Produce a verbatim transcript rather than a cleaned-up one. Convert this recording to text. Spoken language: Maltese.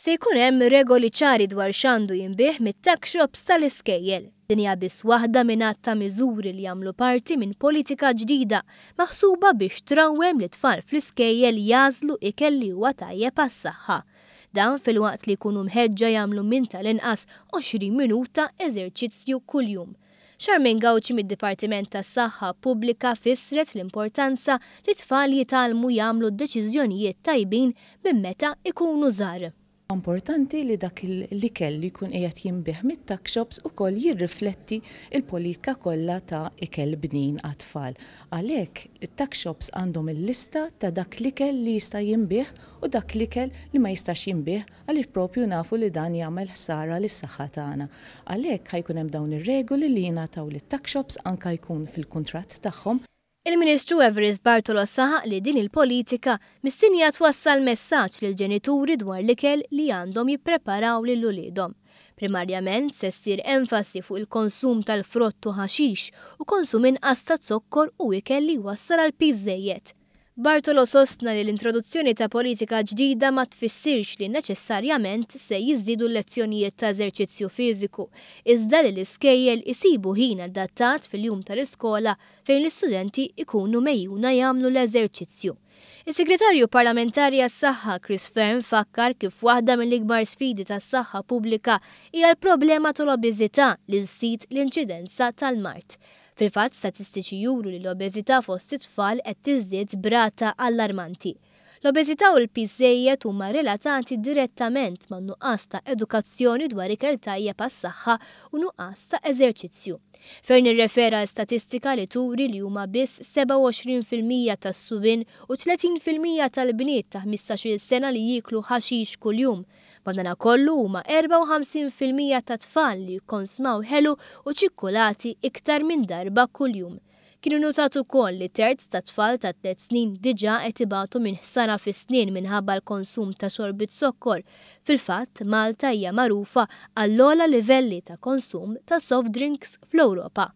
Se jkun hemm regoli ċari dwar x'għandu jinbiegħ mit-tuck shops tal-iskejjel. Din hija biss waħda minn għadd ta' miżuri li jagħmlu parti minn politika ġdida maħsuba biex trawwem lit-tfal fl-iskejjel jagħżlu ikel li huwa tajjeb għas-saħħa. Dan filwaqt li jkunu mħeġġa jagħmlu minn tal-inqas għoxrin minuta eżerċizzju kuljum. Charmaine Gauci mid-Dipartiment tas-Saħħa Pubblika fissret l-importanza li tfal jitgħallmu jagħmlu deċiżjonijiet tajbin minn meta ikunu żgħar. Importanti li dak l-ikel li jkun qiegħed jinbiegħ mit-tuck shops ukoll jirrifletti il-politika kollha ta' ikel bnin għat-tfal. Għalhekk it-tuck shops għandhom il-lista ta' dak l-ikel li jista' jinbiegħ u dak l-ikel li ma jistax jinbiegħ, għaliex propju nafu li dan jagħmel ħsara lis-saħħa tagħna. Għalhekk ħa jkun hemm dawn ir-regoli li jingħataw lit-tuck shops, anke jkun fil-kuntratt tagħhom. Il-Ministru Evarist Bartolo saħaq li din il-politika mistennija twassal messaġġ lil ġenituri dwar l-ikel li għandhom jippreparaw lil uliedhom. Primarjament se ssir enfasi fuq il-konsum tal-frott u ħaxix u konsum inqas ta' zokkor u ikel li wassal għal piż żejjed. Bartolo sostna li l-introduzzjoni ta' politika ġdida ma tfissirx li neċessarjament se jiżdiedu l-lezzjonijiet ta' eżerċizzju fiżiku, iżda li l-iskejjel isibu ħin adattat fil-jum tal-iskola fejn l-istudenti ikunu megħjuna jagħmlu l-eżerċizzju. Is-Segretarju Parlamentari għas-Saħħa Chris Fearne fakkar kif waħda mill-ikbar sfidi tas-saħħa pubblika hija l-problema tal-obeżità li żżid l-inċidenza tal-mard. Fil-fatt, statistiċi juru li l-obeżità fost it-tfal qed tiżdied b'rata allarmanti. L-obeżità u l-piż żejjed huma relatati direttament ma' nuqqas ta' edukazzjoni dwar ikel tajjeb għas-saħħa u nuqqas ta' eżerċizzju. Fearne irrefera għal statistika li turi li huma biss sebgħa u għoxrin fil-mija tas-subien u tletin fil-mija tal-bniet ta' ħmistax-il sena li jieklu ħaxix kuljum. Madanakollu huma erbgħa u ħamsin fil-mija ta' tfal li jikkonsmaw ħelu u ċikkulati iktar minn darba kuljum. Kienu notat ukoll li terz ta' tfal ta' tliet snin diġà qed ibatu minn ħsara fis-snien minħabba l-konsum ta' xorbit zokkor. Fil-fatt, Malta hija magħrufa għall-ogħla livelli ta' konsum ta' soft drinks fl-Ewropa.